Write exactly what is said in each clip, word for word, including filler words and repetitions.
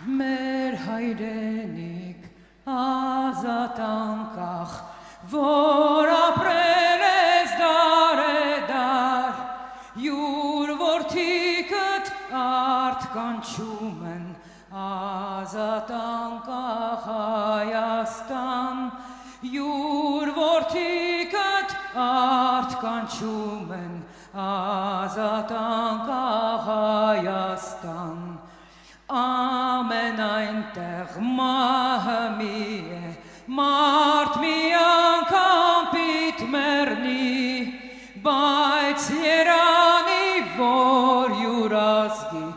մեր հայրենիք ազատ անկախ, որ ապրել ես դարեդար, յուր որդիքդ արդ կանչում են ազատ անկախ Հայաստան, յուր որդիքդ արդ կանչում են ազատ անկախ Հայաստան, ամեն այնտեղ մահը մի է, մարդ մի անգամ պիտ մեռնի, բայց երանի, որ յուր ազգի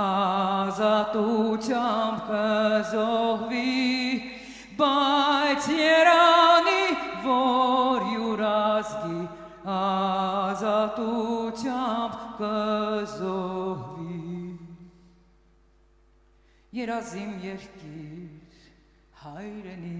ազատությամբ կզոհվի, բայց երանի, որ յուր ազգի ազատությամբ կզոհվի։ Երազիմ երկիր հայրենի,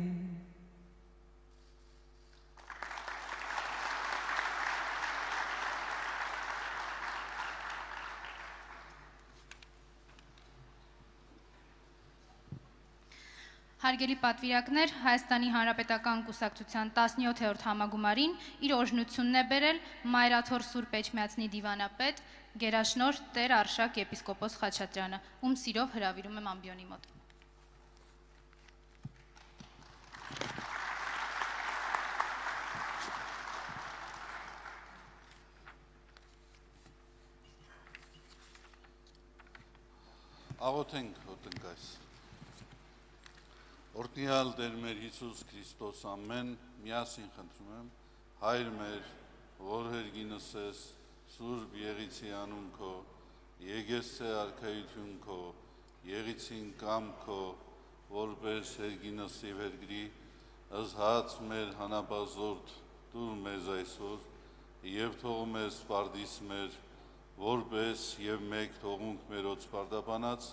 Հարգելի պատվիրակներ, Հայաստանի Հանրապետական կուսակցության տասնյոթերորդ համագումարին իր օրհնությունն է բերել Մայրաթոր Սուրբ Էջմիածնի դիվանապետ, գերաշնորհ Տեր Արշակ եպիսկոպոս Խաչատրյանը, ում սիրով հրավիրում եմ ամբիոնի մոտ։ Աղոթենք հոտնկայս։ Օրհնյալ Տեր մեր Հիսուս Քրիստոս ամեն, միասին խնդրում եմ, Հայր մեր, որ հերգինս ես, Սուրբ եղիցի անուն քո, եկեսցե արքայություն քո, եղիցին կամ քո, որպես հերգինսի վերգրի, ըզհաց մեր հանապազորդ դուր մեզ այսօր, և թող մեզ պարդիս մեր, որպես և մեկ թողունք մերոց պարդապանած,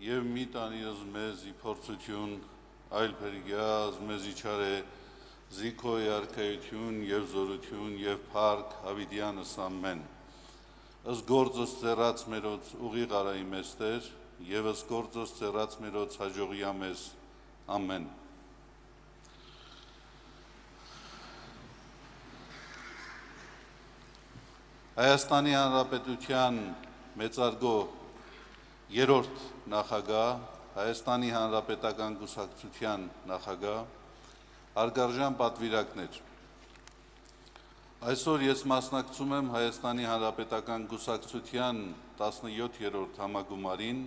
և մի տանիրս մեզ ի փորձություն, այլ փրկյազ մեզ իչար է, զիքոյ արքայություն և զորություն և փառք հավիտյանս ամեն։ Ըս գործս ծերած մերոց ուղիղ արայի մեզ Տեր, և ըս գործս ծերած մերոց հաջողյա մեզ ամեն։ Հայաստանի Հանրապետության մեծարգո երրորդ նախագահ, Հայաստանի Հանրապետական կուսակցության նախագահ, հարգարժան պատվիրակներ, այսօր ես մասնակցում եմ Հայաստանի Հանրապետական կուսակցության տասնյոթերորդ համագումարին,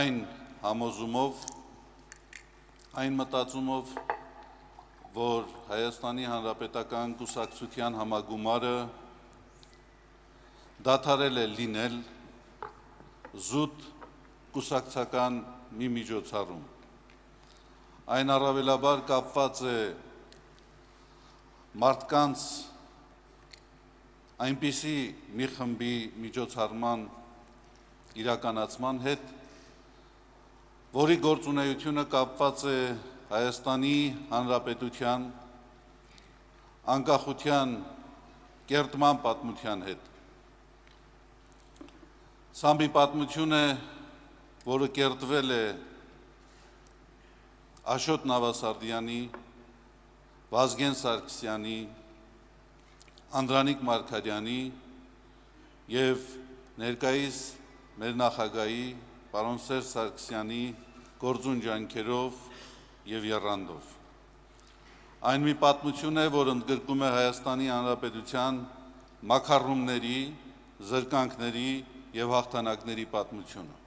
այն համոզումով, այն մտածումով, որ Հայաստանի Հանրապետական կուսակցության համագումարը դադարել է լինել զուտ կուսակցական մի միջոցառում։ Այն առավելաբար կապված է մարդկանց այնպիսի մի խմբի միջոցառման իրականացման հետ, որի գործունեությունը կապված է Հայաստանի Հանրապետության անկախության կերտման պատմության հետ։ Սա մի պատմություն է, որը կերտվել է Աշոտ Նավասարդյանի, Վազգեն Սարգսյանի, Անդրանիկ Մարգարյանի և ներկայիս մեր նախագահի պարոն Սերժ Սարգսյանի գործուն ջանքերով և եռանդով։ Այն մի պատմություն է, որ ընդգրկում է Հայաստանի Հանրապետության մաքարումների, զրկանքների և հաղթանակների պատմությունը։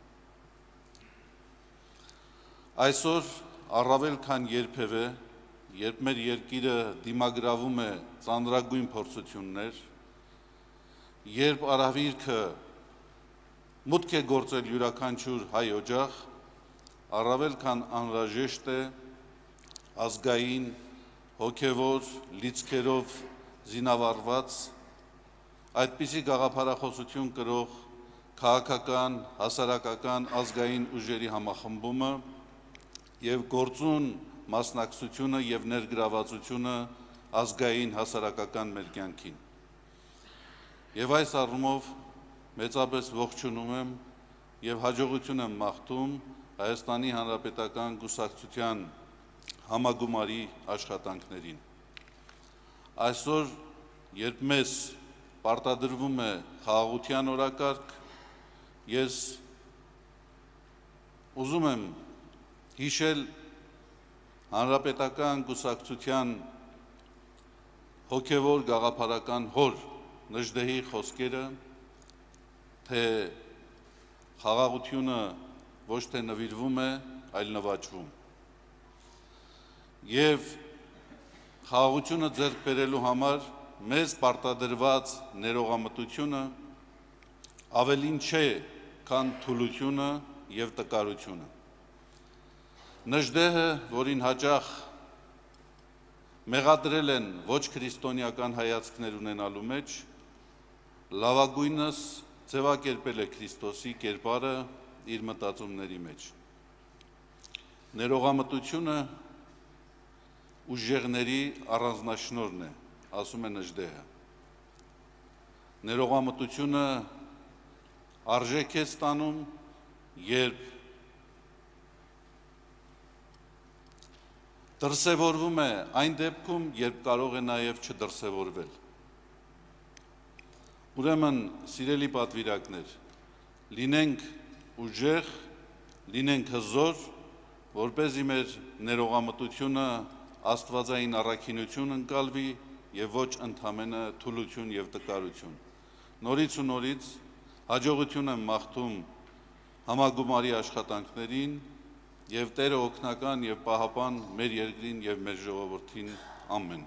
Այսօր առավել քան երբևէ, երբ մեր երկիրը դիմագրավում է ծանրագույն փորձություններ, երբ արհավիրքը մուտք է գործել յուրաքանչյուր հայ օջախ, առավել քան անհրաժեշտ է ազգային, հոգևոր լիցքերով զինավառված, այդպիսի գաղափարախոսություն կրող քաղաքական, հասարակական, ազգային ուժերի համախմբումը և գործուն մասնակցությունը և ներգրավվածությունը ազգային հասարակական մեր կյանքին։ Եվ այս առումով մեծապես ողջունում եմ եւ հաջողություն եմ մաղթում Հայաստանի Հանրապետական Կուսակցության համագումարի աշխատանքներին։ Այսօր, երբ մեզ պարտադրվում է խաղաղության օրակարգ, ես ուզում եմ հիշել Հանրապետական Կուսակցության հոգևոր գաղափարական հոր Նժդեհի խոսքերը, թե խաղաղությունը ոչ թե նվիրվում է, այլ նվաճվում։ Եվ խաղաղությունը ձեռք բերելու համար մեզ պարտադրված ներողամտությունը ավելին չէ, քան թուլությունը եւ տկարությունը։ Նժդեհը, որին հաճախ մեղադրել են ոչ քրիստոնեական հայացքներ ունենալու մեջ, լավագույնս ձևակերպել է Քրիստոսի կերպարը իր մտածումների մեջ։ Ներողամտությունը ուժեղների առանձնաշնորհն է, ասում է Նժդեհը։ Ներողամտությունը արժեք է ստանում, երբ դրսևորվում է այն դեպքում, երբ կարող է նաև չդրսևորվել։ Ուրեմն, սիրելի պատվիրակներ, լինենք ուժեղ, լինենք հզոր, որպեսզի մեր ներողամտությունը աստվածային առաքինություն ընկալվի եւ ոչ ընդամենը թուլություն եւ տկարություն։ Նորից ու նորից հաջողություն եմ մաղթում համագումարի աշխատանքներին եւ Տերը օգնական եւ պահապան մեր երկրին եւ մեր ժողովրդին, ամեն։